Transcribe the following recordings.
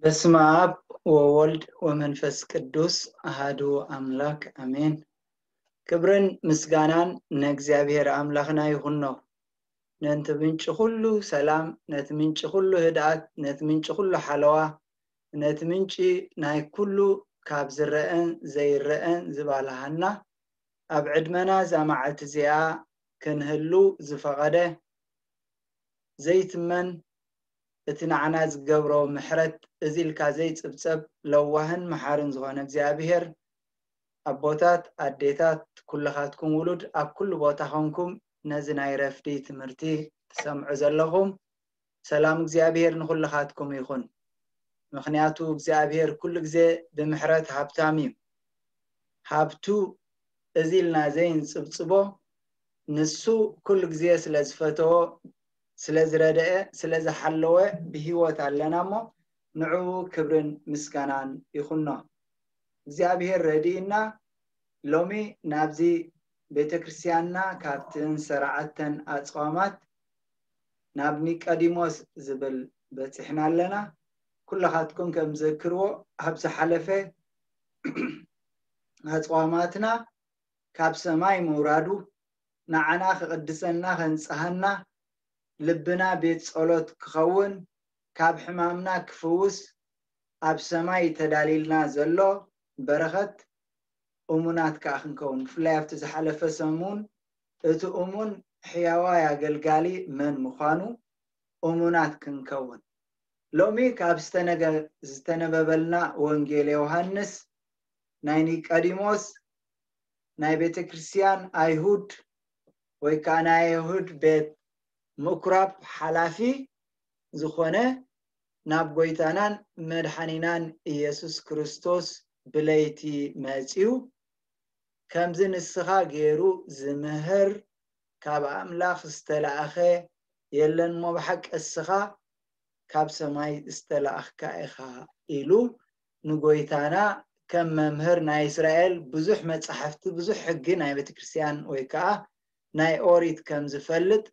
በስመ አብ ወወልድ ወመንፈስ ቅዱስ አሃዱ አምላክ አሜን። ክብርን ምስጋናን ንእግዚኣብሔር ኣምላኽና ይኹኖ። ነቲ ምንጪ ኩሉ ሰላም፣ ነቲ ምንጪ ኩሉ ህድኣት፣ ነቲ ምንጪ ኩሉ ሓለዋ፣ ነቲ ምንጪ ናይ ኩሉ ካብ ዝረአን ዘይረአን ዝባልሃና፣ ኣብ ዕድመና እዛ መዓልቲ እዚኣ ክንህሉ ዝፈቐደ ዘይትመን እቲ ንዓና ዝገብሮ ምሕረት እዚ ኢልካ ዘይጽብጸብ ለዋህን መሓርን ዝኾነ እግዚኣብሔር፣ ኣቦታት፣ ኣዴታት፣ ኩልኻትኩም ውሉድ ኣብ ኩሉ ቦታ ኾንኩም ነዚ ናይ ረፍዲ ትምህርቲ ትሰምዑ ዘለኹም ሰላም እግዚኣብሔር ንኹልኻትኩም ይኹን። ምኽንያቱ እግዚኣብሔር ኩሉ ግዜ ብምሕረት ሃብታም እዩ። ሃብቱ እዚ ኢልና ዘይንጽብጽቦ ንሱ ኩሉ ግዜ ስለ ዝፈተዎ፣ ስለ ዝረደአ፣ ስለ ዝሓለወ ብህይወት ኣለና እሞ ንዕኡ ክብርን ምስጋናን ይኹኖ። እግዚኣብሔር ረድእና ሎሚ ናብዚ ቤተ ክርስቲያንና ካብተን ዝሰራዓተን ኣጽዋማት ናብ ኒቀዲሞስ ዝብል በጺሕና ኣለና። ኩልኻትኩም ከም ዘክርዎ ኣብ ዝሓለፈ ኣጽዋማትና ካብ ሰማይ ምውራዱ ንዓና ክቕድሰና ከንጽሃና ልብና ቤት ጸሎት ክኸውን ካብ ሕማምና ክፍውስ ኣብ ሰማይ ተዳሊልና ዘሎ በረኸት እሙናት ከኣ ክንከውን ብፍላይ ኣብቲ ዝሓለፈ ሰሙን እቲ እሙን ሕያዋይ ኣገልጋሊ መን ምዃኑ እሙናት ክንከውን ሎሚ ካብ ዝተነገ- ዝተነበበልና ወንጌል ዮሃንስ ናይ ኒቀዲሞስ ናይ ቤተ ክርስቲያን ኣይሁድ ወይ ከዓ ናይ ኣይሁድ ቤት ምኩራብ ሓላፊ ዝኾነ ናብ ጎይታናን መድሓኒናን ኢየሱስ ክርስቶስ ብለይቲ መጺኡ ከምዚ ንስኻ ገይሩ ዝምህር ካብ ኣምላኽ ዝተላእኸ የለን እሞ ብሓቂ እስኻ ካብ ሰማይ ዝተላእኽካ ኢኻ ኢሉ ንጎይታና ከም መምህር ናይ እስራኤል ብዙሕ መጻሕፍቲ ብዙሕ ሕጊ ናይ ቤተክርስትያን ወይ ከዓ ናይ ኦሪት ከም ዝፈልጥ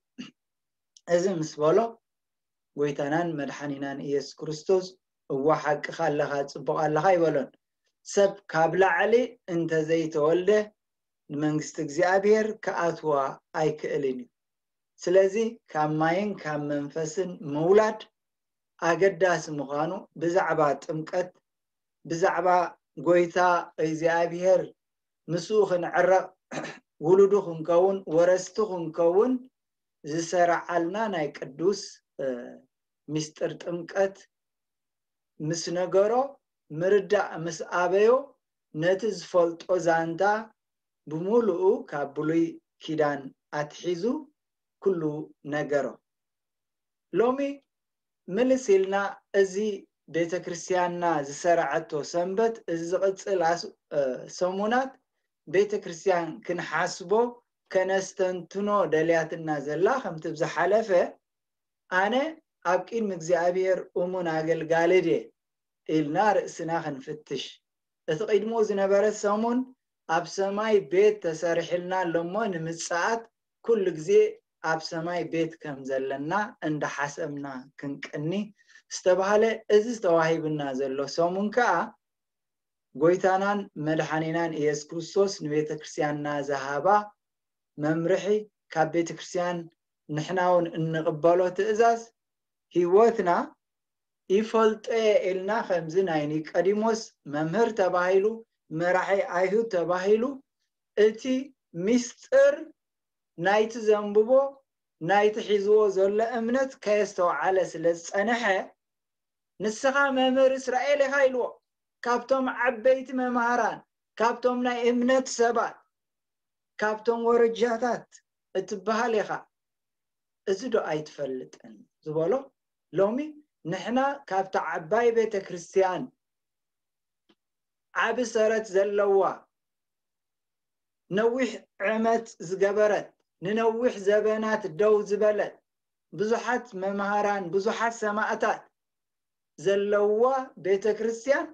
እዚ ምስ በሎ ጎይታናን መድሓኒናን ኢየሱስ ክርስቶስ እዋ ሓቅኻ ኣለኻ ጽቡቕ ኣለኻ ይበሎን ሰብ ካብ ላዕሊ እንተዘይተወልደ ንመንግስቲ እግዚኣብሔር ክኣትዋ ኣይክእልን እዩ። ስለዚ ካብ ማይን ካብ መንፈስን ምውላድ ኣገዳሲ ምዃኑ ብዛዕባ ጥምቀት ብዛዕባ ጎይታ እግዚኣብሔር ምስኡ ክንዕረቕ ውሉዱ ክንከውን ወረስቲ ክንከውን ዝሰረዓልና ናይ ቅዱስ ምስጢር ጥምቀት ምስ ነገሮ ምርዳእ ምስ ኣበዮ ነቲ ዝፈልጦ ዛንታ ብምሉኡ ካብ ብሉይ ኪዳን ኣትሒዙ ኩሉ ነገሮ። ሎሚ ምልስ ኢልና እዚ ቤተ ክርስቲያንና ዝሰረዐቶ ሰንበት እዚ ዝቕፅል ኣስ- እ፣ ሰሙናት ቤተ ክርስቲያን ክንሓስቦ ከነስተንትኖ ደልያትና ዘላ ከምቲ ብዝሓለፈ ኣነ ኣብ ቅድሚ እግዚኣብሔር እሙን ኣገልጋሊ ድየ ኢልና ርእስና ክንፍትሽ እቲ ቅድሙ ዝነበረ ሰሙን ኣብ ሰማይ ቤት ተሰሪሕልና ኣለሞ ንምጽኣት ኩሉ ግዜ ኣብ ሰማይ ቤት ከም ዘለና እንዳሓሰብና ክንቅኒ ዝተባህለ እዚ ዝተዋሂብና ዘሎ ሰሙን ከኣ ጎይታናን መድሓኒናን ኢየሱስ ክርስቶስ ንቤተ ክርስቲያንና ዝሃባ መምርሒ ካብ ቤተ ክርስቲያን ንሕና እውን እንቕበሎ ትእዛዝ ህይወትና ይፈልጦ እየ ኢልና ከምዚ ናይ ኒቀዲሞስ መምህር ተባሂሉ መራሒ ኣይሁድ ተባሂሉ እቲ ሚስጥር ናይቲ ዘንብቦ ናይቲ ሒዝዎ ዘሎ እምነት ከየስተውዓለ ስለ ዝጸንሐ ንስኻ መምህር እስራኤል ኢኻ ኢልዎ ካብቶም ዓበይቲ መምሃራን ካብቶም ናይ እምነት ሰባት ካብቶም ወረጃታት እትበሃል ኢኻ እዚ ዶ ኣይትፈልጥን ዝበሎ ሎሚ ንሕና ካብታ ዓባይ ቤተ ክርስቲያን ዓቢ ሰረት ዘለዋ ነዊሕ ዕመት ዝገበረት ንነዊሕ ዘበናት ደው ዝበለት ብዙሓት መምሃራን ብዙሓት ሰማእታት ዘለዋ ቤተ ክርስቲያን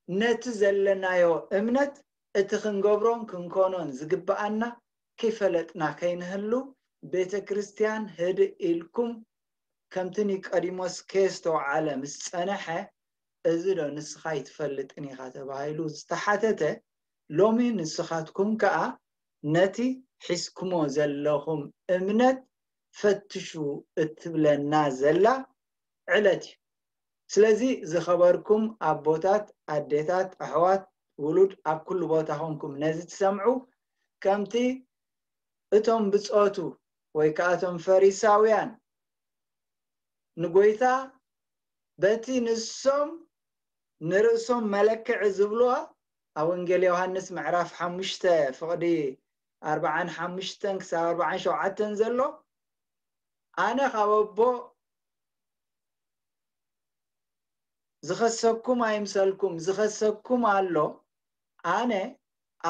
ነቲ ዘለናዮ እምነት እቲ ክንገብሮን ክንኮኖን ዝግብኣና ከይፈለጥና ከይንህሉ ቤተ ክርስቲያን ህድእ ኢልኩም ከምቲ ኒቆዲሞስ ከየስተውዓለ ምስ ጸንሐ፣ እዚ ዶ ንስኻ ኣይትፈልጥን ኢኻ ተባሂሉ ዝተሓተተ፣ ሎሚ ንስኻትኩም ከኣ ነቲ ሒዝኩሞ ዘለኹም እምነት ፈትሹ እትብለና ዘላ ዕለት እዩ። ስለዚ ዝኸበርኩም ኣቦታት፣ ኣዴታት፣ ኣሕዋት፣ ውሉድ ኣብ ኩሉ ቦታ ኾንኩም ነዚ ትሰምዑ፣ ከምቲ እቶም ብጾቱ ወይ ከኣ እቶም ፈሪሳውያን ንጎይታ በቲ ንሶም ንርእሶም መለክዒ ዝብልዋ ኣብ ወንጌል ዮሃንስ ምዕራፍ ሓሙሽተ ፍቕዲ ኣርብዓን ሓሙሽተን ክሳብ ኣርብዓን ሸውዓተን ዘሎ ኣነ ካብ ኣቦ ዝኸሰኩም ኣይምሰልኩም ዝኸሰኩም ኣሎ ኣነ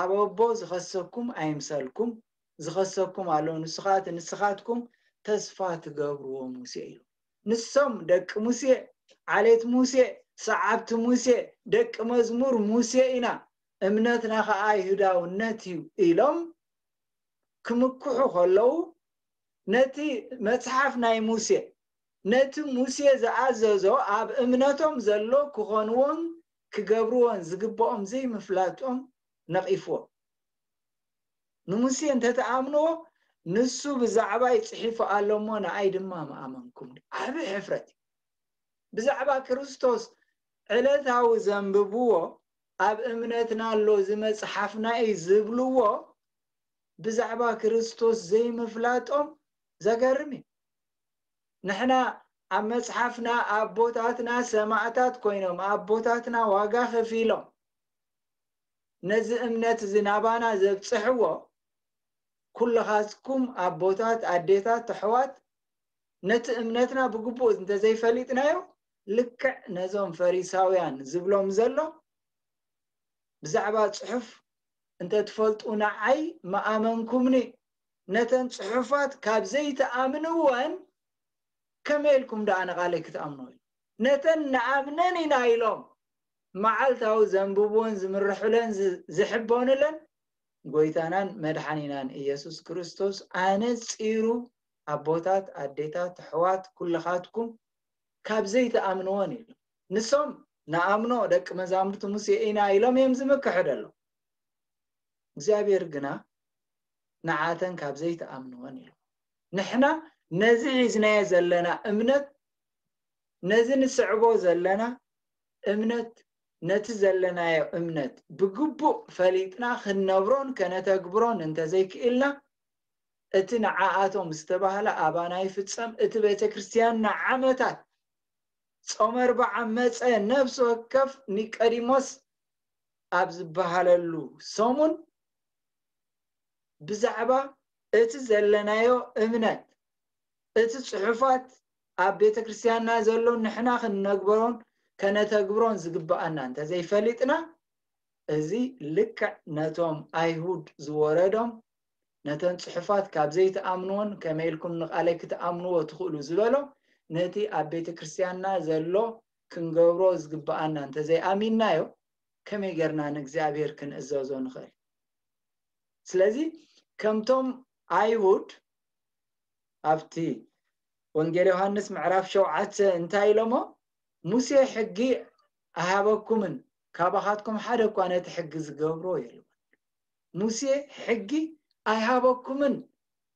ኣብ ኣቦ ዝኸሰኩም ኣይምሰልኩም ዝኸሰኩም ኣሎ ንስኻት ንስኻትኩም ተስፋ ትገብርዎ ሙሴ ኢሉ ንሶም ደቂ ሙሴ ዓሌት ሙሴ ሰዓብቲ ሙሴ ደቂ መዝሙር ሙሴ ኢና እምነትና ኸዓ ይሁዳውነት እዩ ኢሎም ክምክሑ ከለዉ ነቲ መጽሓፍ ናይ ሙሴ ነቲ ሙሴ ዝኣዘዞ ኣብ እምነቶም ዘሎ ክኾንዎን ክገብርዎን ዝግብኦም ዘይምፍላጦም ነቒፍዎ ንሙሴ እንተተኣምንዎ ንሱ ብዛዕባይ ጽሒፉ ኣሎ እሞ ንኣይ ድማ ምኣመንኩም ዓብ ሕፍረት እዩ ብዛዕባ ክርስቶስ ዕለታዊ ዘንብብዎ ኣብ እምነትና ኣሎ እዚ መጽሓፍና እዩ ዝብልዎ ብዛዕባ ክርስቶስ ዘይምፍላጦም ዘገርም እዩ ንሕና ኣብ መጽሓፍና ኣቦታትና ሰማዕታት ኮይኖም ኣቦታትና ዋጋ ከፊሎም ነዚ እምነት እዚ ናባና ዘብጽሕዎ ኩልኻትኩም ኣቦታት ኣዴታት ኣሕዋት ነቲ እምነትና ብግቡእ እንተዘይፈሊጥናዮ ልክዕ ነዞም ፈሪሳውያን ዝብሎም ዘሎ ብዛዕባ ጽሑፍ እንተትፈልጡ ንዓይ ምኣመንኩምኒ ነተን ጽሑፋት ካብ ዘይትኣምንወን ከመይ ኢልኩም ደኣ ንቓለይ ክትኣምኑ ኢሉ ነተን ንኣምነን ኢና ኢሎም መዓልታዊ ዘንብብወን ዝምርሑለን ዝሕበኑለን ጎይታናን መድሓኒናን ኢየሱስ ክርስቶስ ኣነጺሩ ኣቦታት ኣዴታት ኣሕዋት ኩልኻትኩም ካብ ዘይትኣምንወን ኢሉ ንሶም ንኣምኖ ደቂ መዛሙርቲ ሙሴ ኢና ኢሎም እዮም ዝምክሑ ደሎ እግዚኣብሔር ግና ንዓተን ካብ ዘይትኣምንወን ኢሉ ንሕና ነዚ ሒዝናዮ ዘለና እምነት ነዚ ንስዕቦ ዘለና እምነት ነቲ ዘለናዮ እምነት ብግቡእ ፈሊጥና ክንነብሮን ከነተግብሮን እንተዘይክኢልና እቲ ንዓኣቶም ዝተባህለ ኣባና ይፍጸም እቲ ቤተ ክርስትያን ንዓመታት ጾመ ኣርብዓ መጸ ነፍሲ ወከፍ ኒቀዲሞስ ኣብ ዝበሃለሉ ሰሙን ብዛዕባ እቲ ዘለናዮ እምነት እቲ ጽሑፋት ኣብ ቤተ ክርስትያንና ዘሎ ንሕና ክንነግበሮን ከነተግብሮን ዝግብኣና እንተዘይፈሊጥና እዚ ልክዕ ነቶም ኣይሁድ ዝወረዶም ነተን ጽሑፋት ካብ ዘይትኣምንዎን ከመይ ኢልኩም ንቓለይ ክትኣምንዎ ትኽእሉ ዝበሎ ነቲ ኣብ ቤተ ክርስትያንና ዘሎ ክንገብሮ ዝግብኣና እንተዘይኣሚንናዮ ከመይ ጌርና ንእግዚኣብሔር ክንእዘዞ ንኽእል ስለዚ ከምቶም ኣይሁድ ኣብቲ ወንጌል ዮሃንስ ምዕራፍ ሸውዓተ እንታይ ኢሎሞ ሙሴ ሕጊ ኣይሃበኩምን ካባኻትኩም ሓደ እኳ ነቲ ሕጊ ዝገብሮ የልቦን ሙሴ ሕጊ ኣይሃበኩምን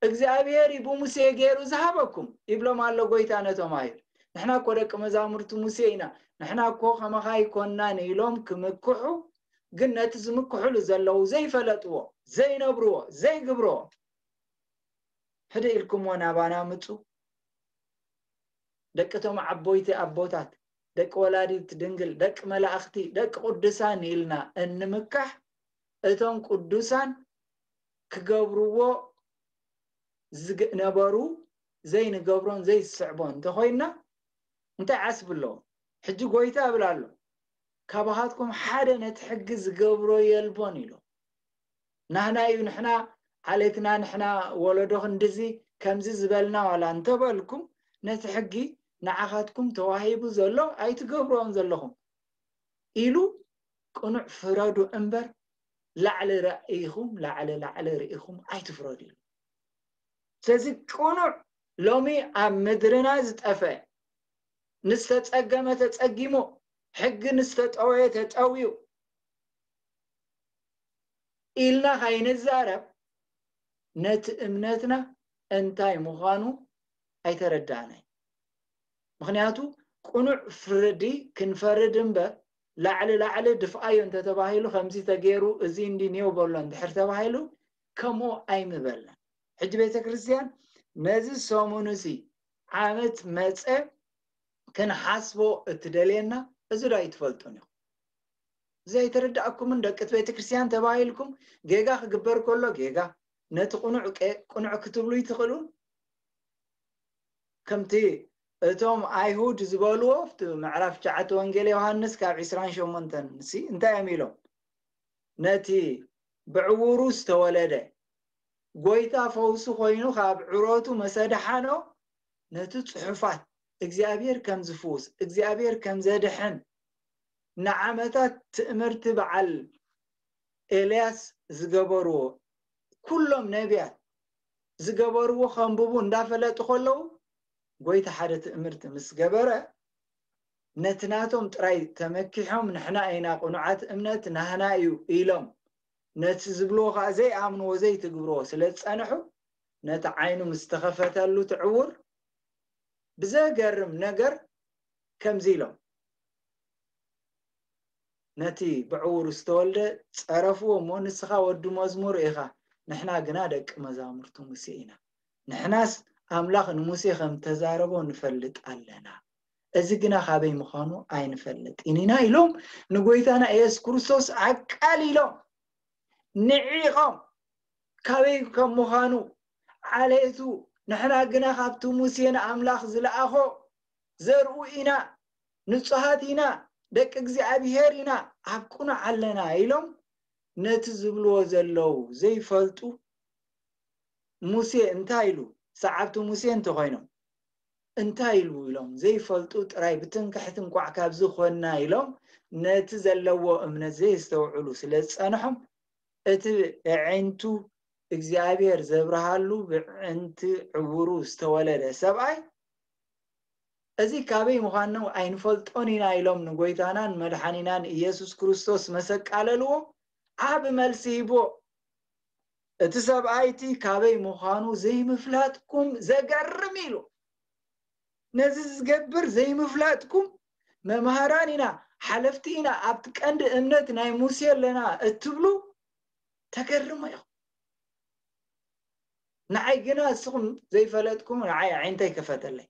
እግዚኣብሔር እዩ ብሙሴ ገይሩ ዝሃበኩም ይብሎም ኣሎ ጎይታ ነቶም ኣይሁድ ንሕና እኮ ደቂ መዛሙርቲ ሙሴ ኢና ንሕና እኮ ከማኻ ኣይኮናን ኢሎም ክምክሑ ግን ነቲ ዝምክሕሉ ዘለዉ ዘይፈለጥዎ ዘይነብርዎ ዘይግብርዎ ሕደ ኢልኩምዎ ናባና ምፁ ደቂ ቶም ዓቦይቲ ኣቦታት ደቂ ወላዲት ድንግል ደቂ መላእኽቲ ደቂ ቅዱሳን ኢልና እንምካሕ እቶም ቅዱሳን ክገብርዎ ዝነበሩ ዘይንገብሮን ዘይስዕቦን እንተኾይንና እንታይ ዓስቢ ኣለዎ ሕጂ ጎይታ እብል ኣሎ ካባኻትኩም ሓደ ነቲ ሕጊ ዝገብሮ የልቦን ኢሉ ናህና እዩ ንሕና ዓሌትና ንሕና ወለዶ ክንድዚ ከምዚ ዝበልና ዋላ እንተበልኩም ነቲ ሕጊ ንዓኻትኩም ተዋሂቡ ዘሎ ኣይትገብርዎን ዘለኹም ኢሉ ቅኑዕ ፍረዱ እምበር ላዕሊ ርኢኹም ላዕሊ ላዕሊ ርኢኹም ኣይትፍረዱ ኢሉ ስለዚ ቅኑዕ ሎሚ ኣብ ምድርና ዝጠፈ፣ ንዝተጸገመ ተጸጊሙ፣ ሕጊ ንዝተጠወየ ተጠውዩ ኢልና ካይንዛረብ፣ ነቲ እምነትና እንታይ ምዃኑ ኣይተረዳእናይ። ምኽንያቱ ቅኑዕ ፍርዲ ክንፈርድ እምበር፣ ላዕሊ ላዕሊ ድፍኣዮ እንተተባሂሉ፣ ከምዚ ተገይሩ፣ እዚ እንዲ ኔው በሎ እንድሕር ተባሂሉ፣ ከምኡ ኣይምበልናን። ሕጂ ቤተ ክርስቲያን ነዚ ሰሙንሲ ዓመት መጸ ክንሓስቦ እትደልየና፣ እዚ ዶ ኣይትፈልጡን ኢኹም? እዚ ኣይተረዳእኩምን? ደቂ እቲ ቤተ ክርስቲያን ተባሂልኩም፣ ጌጋ ክግበር ከሎ ጌጋ፣ ነቲ ቅኑዕ ቀ-፣ ቅኑዕ ክትብሉ ይትኽእሉን? ከምቲ እቶም ኣይሁድ ዝበልዎ፣ ኣብቲ ምዕራፍ ትሽዓተ ወንጌል ዮሃንስ ካብ ዕስራን ሸሞንተን ሲ እንታይ እዮም ኢሎም? ነቲ ብዕውሩ ዝተወለደ ጎይታ ፈውሲ ኮይኑ ካብ ዕሮቱ መሰድሓኖ፣ ነቲ ጽሑፋት እግዚኣብሔር ከም ዝፍውስ፣ እግዚኣብሔር ከም ዘድሕን፣ ንዓመታት ትእምርቲ በዓል ኤልያስ ዝገበርዎ፣ ኩሎም ነቢያት ዝገበርዎ ከንብቡ እንዳፈለጡ ከለዉ፣ ጎይታ ሓደ ትእምርቲ ምስ ገበረ፣ ነቲ ናቶም ጥራይ ተመኪሖም፣ ንሕና ኢና ቅኑዓት እምነት፣ ናህና እዩ ኢሎም፣ ነቲ ዝብልዎ ኸኣ ዘይኣምንዎ፣ ዘይትግብርዎ ስለ ዝጸንሑ፣ ነቲ ዓይኑ ምስ ተኸፈተሉ እቲ ዕውር፣ ብዘገርም ነገር ከምዚ ኢሎም ነቲ ብዕውሩ ዝተወልደ ጸረፍዎ እሞ፣ "ንስኻ ወዲ መዝሙር ኢኻ፣ ንሕና ግና ደቂ መዛሙርቱ ሙሴ ኢና። ንሕናስ ኣምላኽ ንሙሴ ከም ተዛረቦ ንፈልጥ ኣለና። እዚ ግና ካበይ ምዃኑ ኣይንፈልጥን ኢና" ኢሎም ንጎይታና ኢየሱስ ክርስቶስ ኣቃሊሎም፣ ንዒቖም፣ ካበይ ከም ምዃኑ፣ ዓሌቱ፣ "ንሕና ግና ካብቲ ሙሴ ንኣምላኽ ዝለኣኾ ዘርኡ ኢና፣ ንጹሃት ኢና፣ ደቂ እግዚኣብሔር ኢና፣ ኣብ ቅኑዕ ኣለና" ኢሎም ነቲ ዝብልዎ ዘለዉ ዘይፈልጡ፣ ሙሴ እንታይ ኢሉ፣ ሰዓብቲ ሙሴ እንተኾይኖም እንታይ ኢሉ ኢሎም ዘይፈልጡ ጥራይ፣ ብትምክሕቲ እንቋዕ ካብዚ ኮንና ኢሎም ነቲ ዘለዎ እምነት ዘየስተውዕሉ ስለ ዝጸንሖም፣ እቲ ኣዒንቱ እግዚኣብሔር ዘብርሃሉ፣ ብዕንቲ ዕውሩ ዝተወለደ ሰብኣይ፣ እዚ ካበይ ምዃኑ ኣይንፈልጦን ኢና ኢሎም ንጎይታናን መድሓኒናን ኢየሱስ ክርስቶስ መሰቃለልዎ። ዓቢ መልሲ ሂብዎ። እቲ ሰብኣይ እቲ ካበይ ምዃኑ ዘይምፍላጥኩም ዘገርም ኢሉ። ነዚ ዝገብር ዘይምፍላጥኩም፣ መምሃራን ኢና፣ ሓለፍቲ ኢና፣ ኣብቲ ቀንዲ እምነት ናይ ሙሴ ኣለና እትብሉ ተገርሙ ኢኹም። ንዓይ ግና ንስኹም ዘይፈለጥኩም፣ ንዓይ ኣዒንተይ ከፈተለይ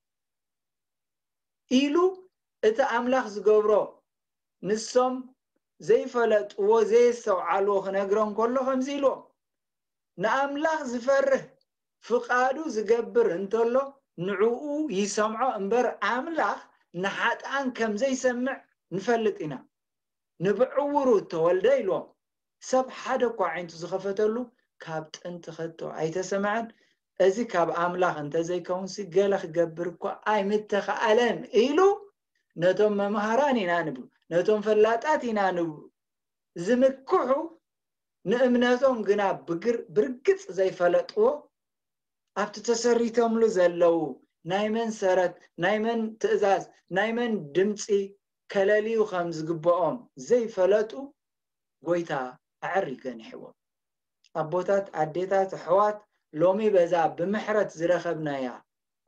ኢሉ እቲ ኣምላኽ ዝገብሮ ንሶም ዘይፈለጥዎ፣ ዘየስተውዓልዎ ክነግሮም ከሎ ከምዚ ኢልዎም፣ "ንኣምላኽ ዝፈርህ ፍቓዱ ዝገብር እንተሎ ንዕኡ ይሰምዖ እምበር፣ ኣምላኽ ንሓጥኣን ከም ዘይሰምዕ ንፈልጥ ኢና። ንብዕውሩ እተወልደ" ኢልዎም። ሰብ ሓደ እኳ ኣዒንቱ ዝኸፈተሉ ካብ ጥንቲ ከቶ ኣይተሰምዐን። እዚ ካብ ኣምላኽ እንተዘይከውንሲ ገለ ክገብር እኳ ኣይምተኻእለን ኢሉ ነቶም መምሃራን ኢና ንብሉ፣ ነቶም ፈላጣት ኢና ንብሉ ዝምክሑ፣ ንእምነቶም ግና ብግር-፣ ብርግጽ ዘይፈለጥዎ፣ ኣብቲ ተሰሪቶምሉ ዘለዉ ናይ መን ሰረት፣ ናይ መን ትእዛዝ፣ ናይ መን ድምጺ ከለልዩ ከም ዝግብኦም ዘይፈለጡ፣ ጎይታ ኣዐሪ ገኒሕዎም። ኣቦታት፣ ኣዴታት፣ ኣሕዋት፣ ሎሚ በዛ ብምሕረት ዝረኸብናያ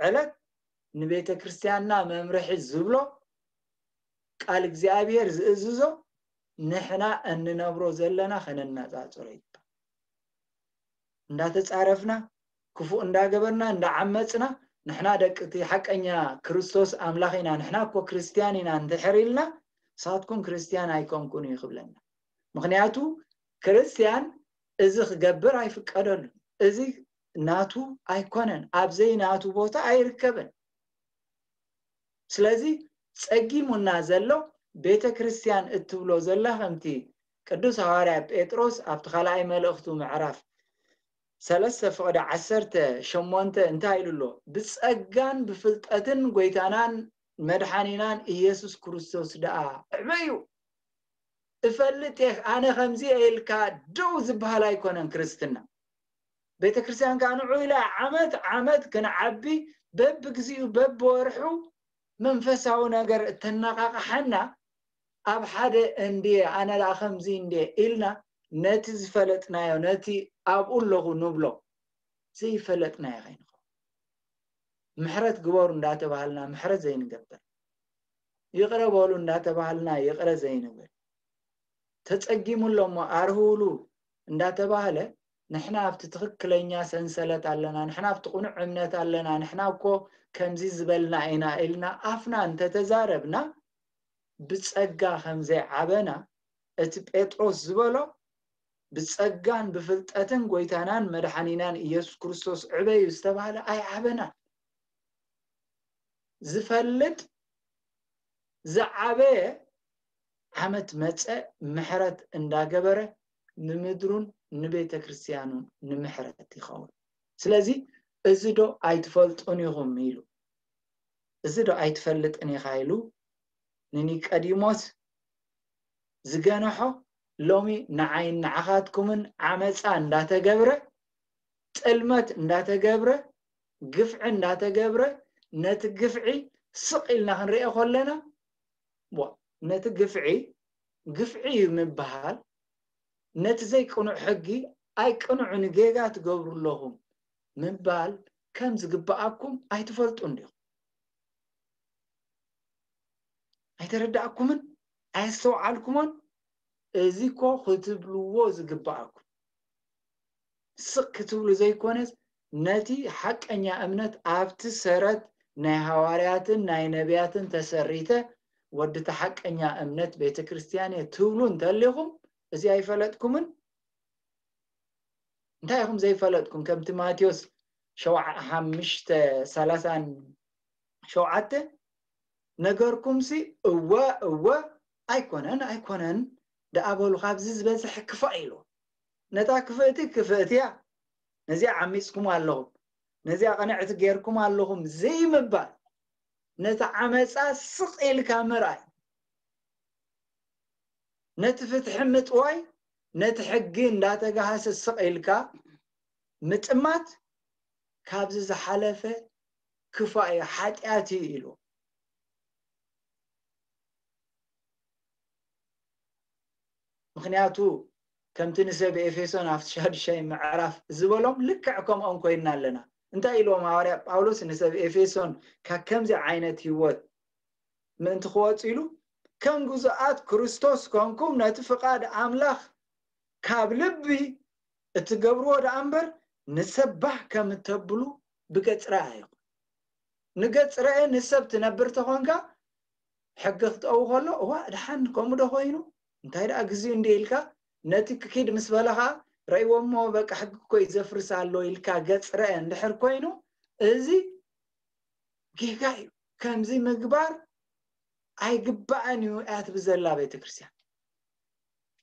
ዕለት ንቤተ ክርስቲያንና መምርሒ ዝብሎ፣ ቃል እግዚኣብሔር ዝእዝዞ፣ ንሕና እንነብሮ ዘለና ከነነጻጽሮ ይግባእ። እንዳተጻረፍና፣ ክፉእ እንዳገበርና፣ እንዳዓመጽና፣ ንሕና ደቂ እቲ ሓቀኛ ክርስቶስ ኣምላኽ ኢና፣ ንሕና እኮ ክርስትያን ኢና እንድሕር ኢልና፣ ንሳትኩም ክርስትያን ኣይኮንኩን እዩ ክብለና። ምኽንያቱ ክርስትያን እዚ ክገብር ኣይፍቀደሉን። እዚ ናቱ ኣይኮነን፣ ኣብ ዘይናቱ ቦታ ኣይርከብን። ስለዚ ጸጊሙና ዘሎ ቤተ ክርስቲያን እትብሎ ዘላ፣ ከምቲ ቅዱስ ሃዋርያ ጴጥሮስ ኣብቲ ካልኣይ መልእኽቱ ምዕራፍ ሰለስተ ፍቕዲ ዓሰርተ ሸሞንተ እንታይ ኢሉ ኣሎ? "ብጸጋን ብፍልጠትን ጎይታናን መድሓኒናን ኢየሱስ ክርስቶስ ደኣ ዕበዩ። እፈልጥ እየ፣ ኣነ ከምዚ እየ" ኢልካ ደው ዝበሃል ኣይኮነን ክርስትና። ቤተክርስትያን ከዓ ንዑ ኢላ ዓመት ዓመት ክንዓቢ በብግዚኡ በብወርሑ መንፈሳዊ ነገር እተነቃቕሓና ኣብ ሓደ እንድየ ኣነ ደኣ ከምዚ እንድየ ኢልና ነቲ ዝፈለጥናዮ ነቲ ኣብኡ ኣለኹ ንብሎ ዘይፈለጥናዮ ከይንኸውን ምሕረት ግበሩ እንዳተባሃልና ምሕረት ዘይንገብር ይቕረ በሉ እንዳተባሃልና ይቕረ ዘይንብል ተጸጊሙ ኣሎ እሞ ኣርህውሉ እንዳተባሃለ ንሕና ኣብቲ ትኽክለኛ ሰንሰለት ኣለና ንሕና ኣብቲ ቁኑዕ እምነት ኣለና ንሕና እኮ ከምዚ ዝበልና ኢና ኢልና ኣፍና እንተተዛረብና ብጸጋ ከም ዘይዓበና እቲ ጴጥሮስ ዝበሎ ብጸጋን ብፍልጠትን ጎይታናን መድሓኒናን ኢየሱስ ክርስቶስ ዕበዩ ዝተባህለ ኣይዓበናን ዝፈልጥ ዝዓበየ ዓመት መጸ ምሕረት እንዳገበረ ንምድሩን ንቤተ ክርስቲያኑን ንምሕረት ይኸውን ስለዚ እዚ ዶ ኣይትፈልጡን ኢኹም ኢሉ እዚ ዶ ኣይትፈልጥን ኢኻ ኢሉ ንኒቀዲሞስ ዝገነሖ ሎሚ ንዓይን ንዓኻትኩምን ዓመፃ እንዳተገብረ ጥልመት እንዳተገብረ ግፍዒ እንዳተገብረ ነቲ ግፍዒ ስቕ ኢልና ክንሪኦ ከለና ነቲ ግፍዒ ግፍዒ እዩ ምበሃል ነቲ ዘይቅኑዕ ሕጊ ኣይቅኑዕን ጌጋ ትገብሩ ኣለኹም ምባል ከም ዝግብኣኩም ኣይትፈልጡን ዲኹም? ኣይተረዳእኩምን ኣየስተውዓልኩሞን። እዚ እኮ ክትብልዎ ዝግብኣኩም ስቕ ክትብሉ ዘይኮነስ ነቲ ሓቀኛ እምነት ኣብቲ ሰረት ናይ ሃዋርያትን ናይ ነቢያትን ተሰሪተ ወዲ እቲ ሓቀኛ እምነት ቤተ ክርስቲያን እየ ትብሉ እንተሊኹም እዚ ኣይፈለጥኩምን። እንታይ ኢኹም ዘይፈለጥኩም? ከምቲ ማቴዎስ ሸውዓ ሓምሽተ ሰላሳን ሸውዓተ ነገርኩምሲ እወ እወ ኣይኮነን ኣይኮነን ደኣ በሉ ካብዚ ዝበዝሕ ክፋእ ኢሉ ነታ ክፍእቲ ክፍእቲ እያ ነዚኣ ዓሚፅኩም ኣለኹም ነዚኣ ቅንዕቲ ጌርኩም ኣለኹም ዘይምባል ነቲ ዓመፃ ስቕ ኢልካ ምርኣይ ነቲ ፍትሒ ምጥዋይ ነቲ ሕጊ እንዳተጋሃሰ ስቕ ኢልካ ምጥማት ካብዚ ዝሓለፈ ክፋእ እዩ ሓጢኣት እዩ ኢሉ ምክንያቱ ከምቲ ንሰብ ኤፌሶን ኣብቲ ሻዱሻይ ምዕራፍ ዝበሎም ልክዕ ከምኦም ኮይንና ኣለና እንታይ ኢልዎም ሃዋርያ ጳውሎስ ንሰብ ኤፌሶን ካብ ከምዚ ዓይነት ህይወት ምእንቲ ክወፁ ኢሉ ከም ግዙኣት ክርስቶስ ኮንኩም ነቲ ፍቓድ ኣምላኽ ካብ ልቢ እትገብርዎ ደኣ እምበር ንሰብ ባህ ከም እተብሉ ብገጽ ረኣ ይኹን ንገጽ ረአ ንሰብ ትነብር ተኾንካ ሕጊ ክጠው ከሎ እዋ ድሓን ከምኡ ዶ ኮይኑ እንታይ ደኣ ግዜኡ እንዲ ኢልካ ነቲ ክኪድ ምስ በለኻ ረእይዎ እሞ በቃ ሕጊ እኮ እዩ ዘፍርስ ኣሎ ኢልካ ገጽ ረአ እንድሕር ኮይኑ እዚ ጌጋ እዩ ከምዚ ምግባር ኣይግባእን እዩ እያ ትብል ዘላ ቤተክርስትያን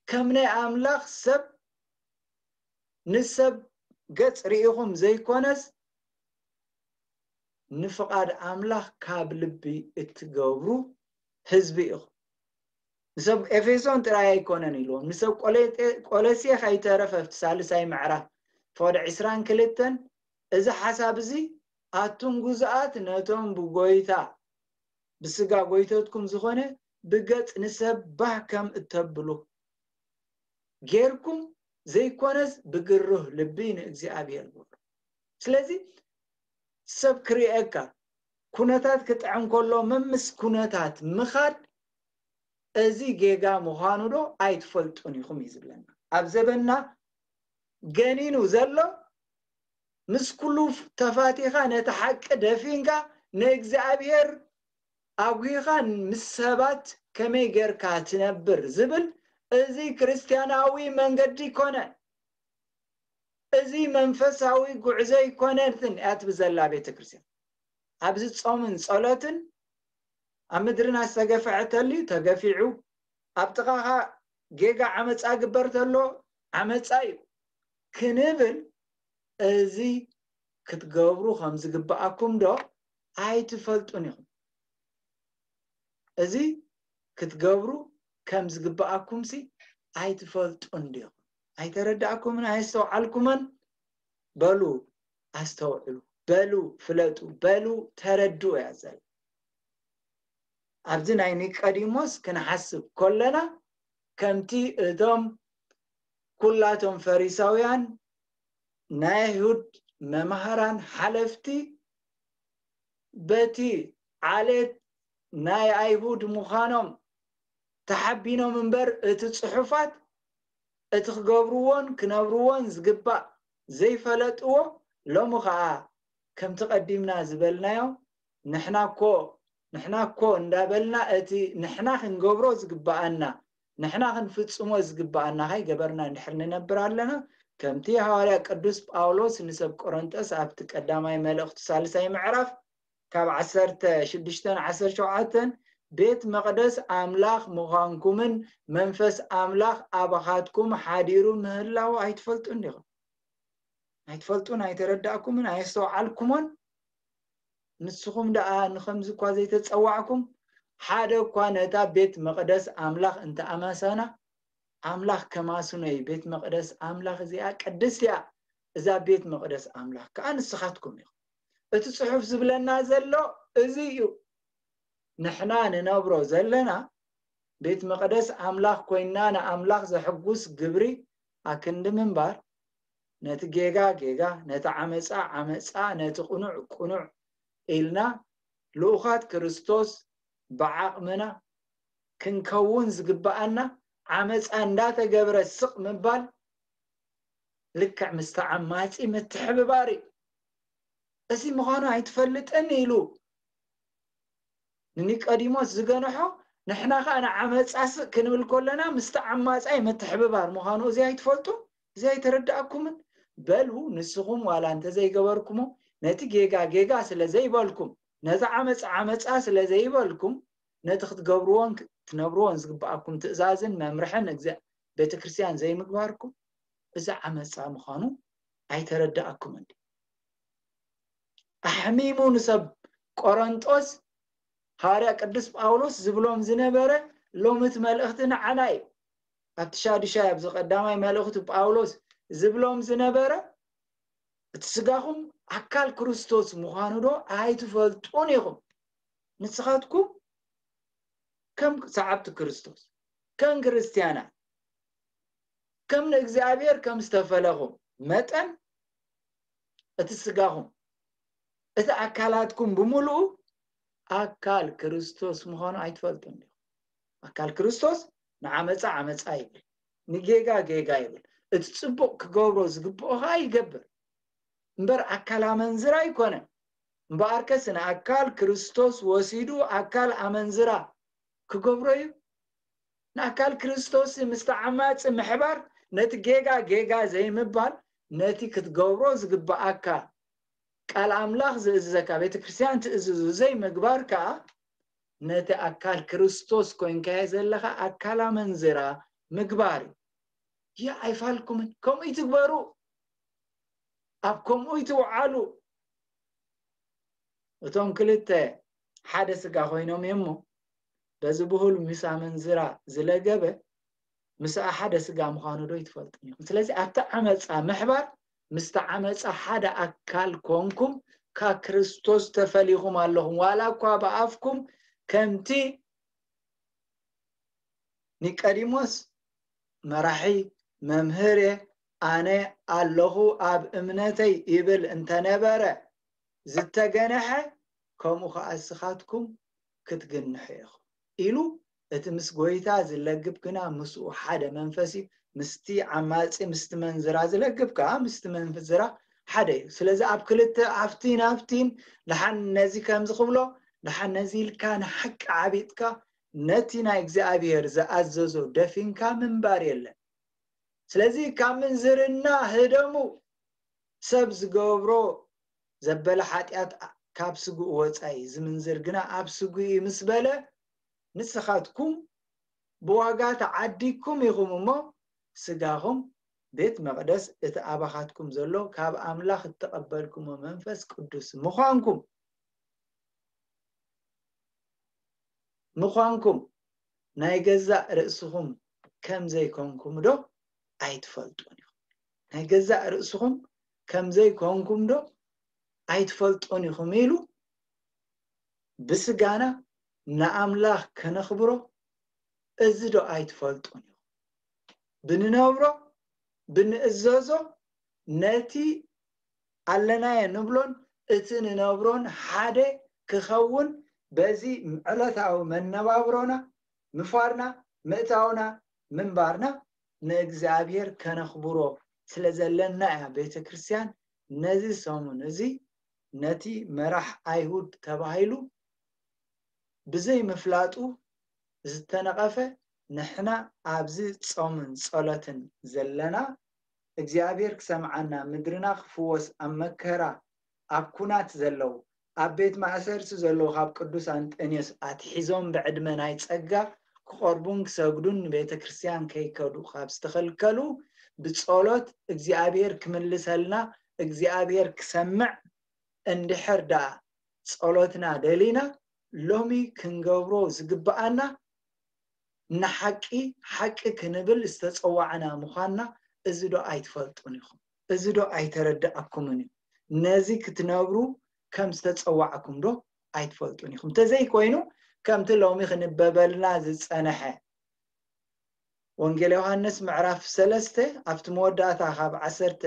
ከም ናይ ኣምላኽ ሰብ ንሰብ ገጽ ርኢኹም ዘይኮነስ ንፍቓድ ኣምላኽ ካብ ልቢ እትገብሩ ህዝቢ ኢኹም ንሰብ ኤፌሶን ጥራይ ኣይኮነን ኢልዎም ንሰብ ቆለሴ ከይተረፈ ኣብቲ ሳልሳይ ምዕራፍ ፈወደ ዕስራን ክልተን እዚ ሓሳብ እዚ ኣቱም ጉዙኣት ነቶም ብጎይታ ብስጋ ጎይተትኩም ዝኾነ ብገጽ ንሰብ ባህ ከም እተብሉ ጌርኩም ዘይኮነስ ብግሩህ ልቢ ንእግዚኣብሔር ግበሩ። ስለዚ ሰብ ክርእየካ ኩነታት ክጥዕም ከሎ መምስ ኩነታት ምኻድ እዚ ጌጋ ምዃኑ ዶ ኣይትፈልጡን ኢኹም እዩ ዝብለና። ኣብ ዘበንና ገኒኑ ዘሎ ምስ ኩሉ ተፋቲኻ ነቲ ሓቂ ደፊንካ ንእግዚኣብሔር ኣጉሂኻ ምስ ሰባት ከመይ ጌርካ ትነብር ዝብል እዚ ክርስትያናዊ መንገዲ ይኮነን። እዚ መንፈሳዊ ጉዕዞ ይኮነትን እያ ትብል ዘላ ቤተ ክርስትያን። ኣብዚ ጾምን ጸሎትን ኣብ ምድርና ዝተገፍዐ ተልዩ ተገፊዑ ኣብ ጥቓኻ ጌጋ ዓመፃ ግበር ተሎ ዓመፃ እዩ ክንብል እዚ ክትገብሩ ከም ዝግብኣኩም ዶ ኣይትፈልጡን ኢኹም? እዚ ክትገብሩ ከም ዝግብኣኩም ሲ ኣይትፈልጡን ዲኹም? ኣይተረዳእኩምን ኣየስተውዓልኩምን? በሉ ኣስተውዕሉ፣ በሉ ፍለጡ፣ በሉ ተረድኡ እያ ዘላ። ኣብዚ ናይ ኒቆዲሞስ ክንሓስብ ከለና ከምቲ እቶም ኩላቶም ፈሪሳውያን ናይ ኣይሁድ መምሃራን ሓለፍቲ በቲ ዓሌት ናይ ኣይሁድ ምዃኖም ተሓቢኖም እምበር እቲ ጽሑፋት እቲ ክገብርዎን ክነብርዎን ዝግባእ ዘይፈለጥዎ ሎሚ ኸኣ ከምቲ ቀዲምና ዝበልናዮ ንሕና እኮ ንሕና እኮ እንዳበልና እቲ ንሕና ክንገብሮ ዝግባኣና ንሕና ክንፍጽሞ ዝግባኣና ከይገበርና እንድሕር ንነብር ኣለና ከምቲ ሃዋርያ ቅዱስ ጳውሎስ ንሰብ ቆሮንጦስ ኣብቲ ቀዳማይ መልእኽቱ ሳልሳይ ምዕራፍ ካብ ዓሰርተ ሽዱሽተ ዓሰርተ ሸውዓተ ቤት መቕደስ ኣምላኽ ምዃንኩምን መንፈስ ኣምላኽ ኣባኻትኩም ሓዲሩ ምህላው ኣይትፈልጡን ዲኹም? ኣይትፈልጡን ኣይተረዳእኩምን ኣየስተውዓልኩሞን? ንስኹም ደኣ ንኸምዚ እኳ ዘይተጸዋዕኩም ሓደ እኳ ነታ ቤት መቕደስ ኣምላኽ እንተኣማሳና ኣምላኽ ከማስኖ እዩ። ቤት መቕደስ ኣምላኽ እዚኣ ቅድስቲ እያ። እዛ ቤት መቕደስ ኣምላኽ ከኣ ንስኻትኩም ኢኹም። እቲ ጽሑፍ ዝብለና ዘሎ እዚ እዩ። ንሕና ንነብሮ ዘለና ቤት መቕደስ ኣምላኽ ኮይንና ንኣምላኽ ዘሕጉስ ግብሪ ኣክንዲ ምንባር ነቲ ጌጋ ጌጋ፣ ነቲ ዓመጻ ዓመጻ፣ ነቲ ቅኑዕ ቅኑዕ ኢልና ልኡኻት ክርስቶስ ብዓቕምና ክንከውን ዝግብኣና ዓመፃ እንዳተገብረ ስቕ ምባል ልክዕ ምስ ተዓማፂ ምትሕብባር እዩ። እዚ ምዃኑ ኣይትፈልጥን ኢሉ ንኒቆዲሞስ ዝገንሖ ንሕና ከዓ ንዓመፃ ስቕ ክንብል ከለና ምስ ተዓማፃይ ምትሕብባር ምዃኑ እዚ ኣይትፈልጡ? እዚ ኣይተረዳእኩምን? በሉ ንስኹም ዋላ እንተዘይገበርኩሞ ነቲ ጌጋ ጌጋ ስለ ዘይበልኩም ነቲ ዓመፃ ዓመፃ ስለ ዘይበልኩም ነቲ ክትገብርዎን ትነብርዎን ዝግብኣኩም ትእዛዝን መምርሕን ቤተክርስትያን ዘይምግባርኩም እዚ ዓመፃ ምዃኑ ኣይተረዳእኩምን? ኣሕሚሙ ንሰብ ቆረንጦስ ሃዋርያ ቅዱስ ጳውሎስ ዝብሎም ዝነበረ ሎሚ እቲ መልእኽቲ ንዓና እዩ። ኣብቲ ሻዱሻይ ኣብዚ ቀዳማይ መልእኽቱ ጳውሎስ ዝብሎም ዝነበረ እቲ ስጋኹም ኣካል ክርስቶስ ምዃኑ ዶ ኣይትፈልጡን ኢኹም? ንስኻትኩም ከም ሰዓብቲ ክርስቶስ ከም ክርስትያናት ከም ንእግዚኣብሔር ከም ዝተፈለኹም መጠን እቲ ስጋኹም እቲ ኣካላትኩም ብምሉኡ ኣካል ክርስቶስ ምዃኑ ኣይትፈልጡን ዲኹም? ኣካል ክርስቶስ ንዓመፃ ዓመፃ ይብል፣ ንጌጋ ጌጋ ይብል፣ እቲ ፅቡቕ ክገብሮ ዝግብኦ ከዓ ይገብር እምበር ኣካል ኣመንዝራ ኣይኮነን። እምበኣርከስ ንኣካል ክርስቶስ ወሲዱ ኣካል ኣመንዝራ ክገብሮ እዩ። ንኣካል ክርስቶስ ምስ ተዓማፂ ምሕባር ነቲ ጌጋ ጌጋ ዘይምባል ነቲ ክትገብሮ ዝግብኣካ ቃል ኣምላኽ ዝእዝዘካ ቤተ ክርስትያን ትእዝዙ ዘይምግባር ከዓ ነቲ ኣካል ክርስቶስ ኮይንካዮ ዘለኻ ኣካል ኣመንዝራ ምግባር እዩ። ያ ኣይፋልኩምን ከምኡ ይትግበሩ ኣብ ከምኡ ይትውዓሉ። እቶም ክልተ ሓደ ስጋ ኮይኖም እሞ በዚ ብሁል ምስ ኣመንዝራ ዝለገበ ምስኣ ሓደ ስጋ ምዃኑ ዶ ይትፈልጥን ኢኹም? ስለዚ ኣብቲ ዓመፃ ምሕባር ምስቲ ዓመፃ ሓደ ኣካል ኮንኩም ካብ ክርስቶስ ተፈሊኹም ኣለኹም። ዋላ እኳ ብኣፍኩም ከምቲ ኒቀዲሞስ መራሒ መምህር ኣነ ኣለኹ ኣብ እምነተይ ይብል እንተነበረ ዝተገነሐ ከምኡ ከዓ እስኻትኩም ክትግንሑ ኢኹም ኢሉ እቲ ምስ ጎይታ ዝለግብ ግና ምስኡ ሓደ መንፈስ እዩ። ምስቲ ዓማፂ ምስቲ መንዝራ ዝለግብ ከዓ ምስቲ መንዝራ ሓደ እዩ። ስለዚ ኣብ ክልተ ኣብቲን ኣብቲን ደሓን ነዚ ከምዚ ክብሎ ደሓን ነዚ ኢልካ ንሓቂ ዓቢጥካ ነቲ ናይ እግዚኣብሔር ዝኣዘዞ ደፊንካ ምንባር የለን። ስለዚ ካብ ምንዝርና ህደሙ፣ ሰብ ዝገብሮ ዘበለ ሓጢኣት ካብ ስግኡ ወፃኢ ዝምንዝር ግና ኣብ ስግኡ እዩ ምስ በለ ንስኻትኩም ብዋጋ ተዓዲግኩም ኢኹም እሞ ስጋኹም ቤት መቕደስ እቲ ኣባኻትኩም ዘሎ ካብ ኣምላኽ እተቐበልኩሞ መንፈስ ቅዱስ ምዃንኩም ምዃንኩም ናይ ገዛእ ርእስኹም ከም ዘይኮንኩም ዶ ኣይትፈልጡን ኢኹም? ናይ ገዛእ ርእስኹም ከም ዘይኮንኩም ዶ ኣይትፈልጡን ኢኹም? ኢሉ ብስጋና ንኣምላኽ ከነኽብሮ እዚ ዶ ኣይትፈልጡን ኢኹም? ብንነብሮ ብንእዘዞ ነቲ ኣለናዮ ንብሎን እቲ ንነብሮን ሓደ ክኸውን በዚ ዕለታዊ መነባብሮና ምፋርና ምእታውና ምንባርና ንእግዚኣብሔር ከነኽብሮ ስለ ዘለና እያ ቤተ ክርስቲያን ነዚ ሰሙን እዚ ነቲ መራሕ ኣይሁድ ተባሂሉ ብዘይ ምፍላጡ ዝተነቐፈ ንሕና ኣብዚ ጾምን ጸሎትን ዘለና እግዚኣብሔር ክሰምዓና ምድርና ክፍወስ ኣብ መከራ ኣብ ኩናት ዘለዉ ኣብ ቤት ማእሰርቲ ዘለዉ ካብ ቅዱስ ኣንጠንዮስ ኣትሒዞም ብዕድመ ናይ ጸጋ ክቐርቡን ክሰግዱን ንቤተ ክርስቲያን ከይከዱ ካብ ዝተኸልከሉ ብጸሎት እግዚኣብሔር ክምልሰልና እግዚኣብሔር ክሰምዕ እንድሕር ደኣ ጸሎትና ደሊና ሎሚ ክንገብሮ ዝግብኣና ንሓቂ ሓቂ ክንብል ዝተጸዋዕና ምዃንና እዚ ዶ ኣይትፈልጡን ኢኹም? እዚ ዶ ኣይተረድኣኩምን እዩ? ነዚ ክትነብሩ ከም ዝተጸዋዕኩም ዶ ኣይትፈልጡን ኢኹም? እንተዘይኮይኑ ከምቲ ሎሚ ክንበበልና ዝጸነሐ ወንጌል ዮሃንስ ምዕራፍ ሰለስተ ኣብቲ መወዳእታ ካብ ዓሰርተ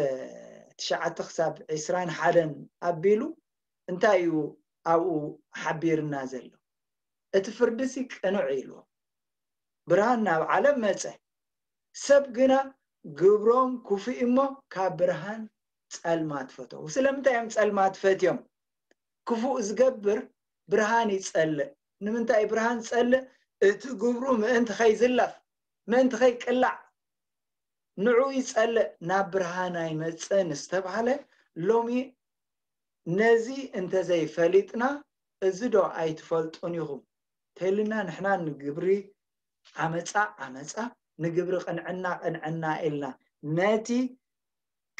ትሽዓተ ክሳብ ዕስራን ሓደን ኣቢሉ እንታይ እዩ ኣብኡ ሓቢርና ዘሎ? እቲ ፍርድሲ ቅኑዕ ኢልዎ። ብርሃን ናብ ዓለም መጸ። ሰብ ግና ግብሮም ክፉእ እሞ ካብ ብርሃን ጸልማት ፈተው። ስለምንታይ እዮም ጸልማት ፈትዮም? ክፉእ ዝገብር ብርሃን ይጸልእ። ንምንታይ ብርሃን ጸልእ? እቲ ግብሩ ምእንቲ ከይዝለፍ፣ ምእንቲ ከይቅላዕ ንዑ ይጸልእ፣ ናብ ብርሃን ኣይመጽእን ዝተባህለ ሎሚ ነዚ እንተዘይፈሊጥና እዚ ዶ ኣይትፈልጡን ኢኹም? ተልና ንሕና ንግብሪ ዓመፃ ዓመፃ ንግብሪ ቅንዕና ቅንዕና ኢልና ነቲ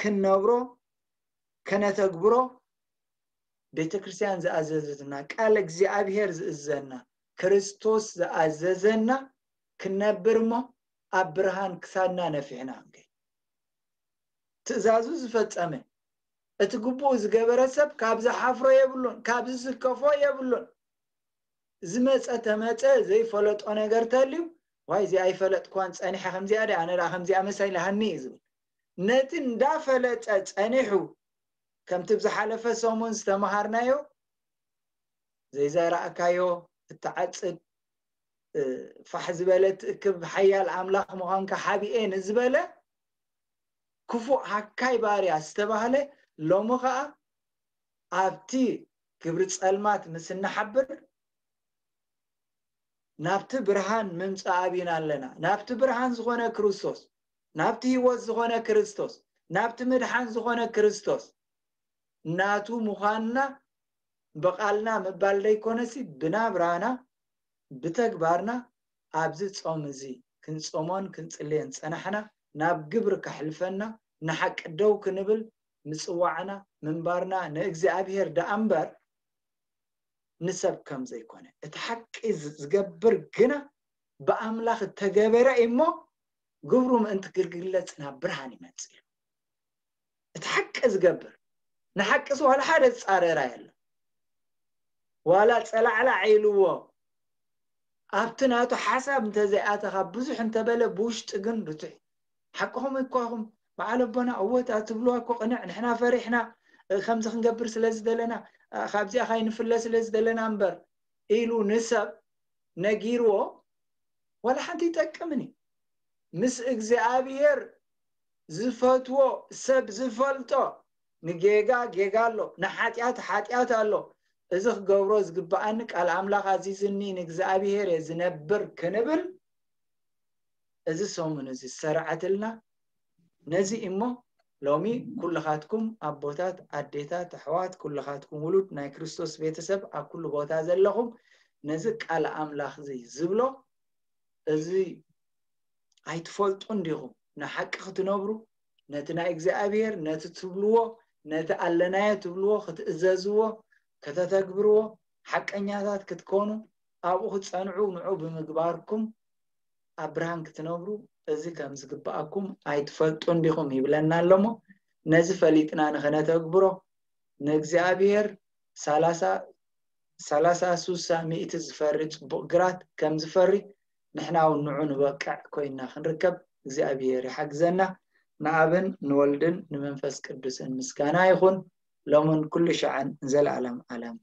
ክንነብሮ ከነተግብሮ ቤተ ክርስቲያን ዝኣዘዘትና ቃል እግዚኣብሔር ዝእዘና ክርስቶስ ዝኣዘዘና ክንነብር እሞ ኣብ ብርሃን ክሳድና ነፊሕና ክንከይድ ትእዛዙ ዝፈጸመ እቲ ግቡኡ ዝገበረ ሰብ ካብ ዝሓፍሮ የብሉን ካብ ዝስከፎ የብሉን ዝመፀ ተመፀ ዘይፈለጦ ነገር ተልዩ ዋይ እዚ ኣይፈለጥኳን ፀኒሐ ከምዚኣ ደ ኣነ ከምዚኣ መሳይላ ሃኒ እዩ ዝብል ነቲ እንዳፈለጠ ፀኒሑ ከምቲ ብዝሓለፈ ሰሙን ዝተምሃርናዮ ዘይዘራእካዮ እትዓፅድ ፋሕ ዝበለ ትእክብ ሓያል ኣምላኽ ምዃንካ ሓቢኤ ንዝበለ ክፉእ ሃካይ ባርያ ዝተባህለ ሎሚ ኸዓ ኣብቲ ግብሪ ጸልማት ምስ እንሓብር ናብቲ ብርሃን ምምጻእ ኣቢና ኣለና ናብቲ ብርሃን ዝኾነ ክርስቶስ ናብቲ ህይወት ዝኾነ ክርስቶስ ናብቲ ምድሓን ዝኾነ ክርስቶስ ናቱ ምዃንና ብቓልና ምባል ዘይኮነሲ ብናብራና ብተግባርና ኣብዚ ጾም እዚ ክንጾሞን ክንጽልየን ጸናሕና ናብ ግብሪ ከሕልፈና ንሓቂ ደው ክንብል ምጽዋዕና ምንባርና ንእግዚኣብሔር ደኣ እምበር ንሰብ ከም ዘይኮነ እቲ ሓቂ ዝገብር ግና ብኣምላኽ እተገበረ እሞ ግብሩ ምእንቲ ክግለጽ ናብ ብርሃን ይመጽእ እዩ እቲ ሓቂ ዝገብር ንሓቅስ ዋላ ሓደ ዝጻረራ የለ ዋላ ጸላዕላዕ ኢልዎ ኣብቲ ናቱ ሓሳብ እንተዘይኣተኻ ብዙሕ እንተበለ ብውሽጢ ግን ርቱዕ ሓቅኹም እኳኹም በዓል ኣቦና እወት ኣትብልዋ እኮ ቅንዕ ንሕና ፈሪሕና ከምዚ ክንገብር ስለ ዝደለና ካብዚኣ ካይንፍለ ስለ ዝደለና እምበር ኢሉ ንሰብ ነጊርዎ ዋላ ሓንቲ ይጠቅምን እዩ ምስ እግዚኣብሔር ዝፈትዎ ሰብ ዝፈልጦ ንጌጋ ጌጋ ኣሎ ንሓጢኣት ሓጢኣት ኣሎ እዚ ክገብሮ ዝግብኣኒ ቃል ኣምላኽ ኣዚዝኒ ንእግዚኣብሔር እየ ዝነብር ክንብል እዚ ሰሙን እዚ ዝሰርዐትልና ነዚ እሞ ሎሚ ኩልኻትኩም ኣቦታት ኣዴታት ኣሕዋት ኩልኻትኩም ውሉድ ናይ ክርስቶስ ቤተሰብ ኣብ ኩሉ ቦታ ዘለኹም ነዚ ቃል ኣምላኽ እዚ ዝብሎ እዚ ኣይትፈልጡን ዲኹም ንሓቂ ክትነብሩ ነቲ ናይ እግዚኣብሔር ነቲ ትብልዎ ነቲ ኣለናዮ ትብልዎ ክትእዘዝዎ ከተተግብርዎ ሓቀኛታት ክትኮኑ ኣብኡ ክትፀንዑ ንዑ ብምግባርኩም ኣብ ብርሃን ክትነብሩ እዚ ከም ዝግብኣኩም ኣይትፈልጡን ዲኹም ይብለና ኣለሞ ነዚ ፈሊጥና ንኸነተግብሮ ንእግዚኣብሔር ሰላሳ ስሳ ሚእቲ ዝፈሪ ፅቡቕ ግራት ከም ዝፈሪ ንሕና እውን ንዑ ንበቅዕ ኮይና ክንርከብ እግዚኣብሔር ይሓግዘና። ንኣብን ንወልድን ንመንፈስ ቅዱስን ምስጋና ይኹን ሎምን ኩሉ ሻዕን ንዘለኣለም ኣለም።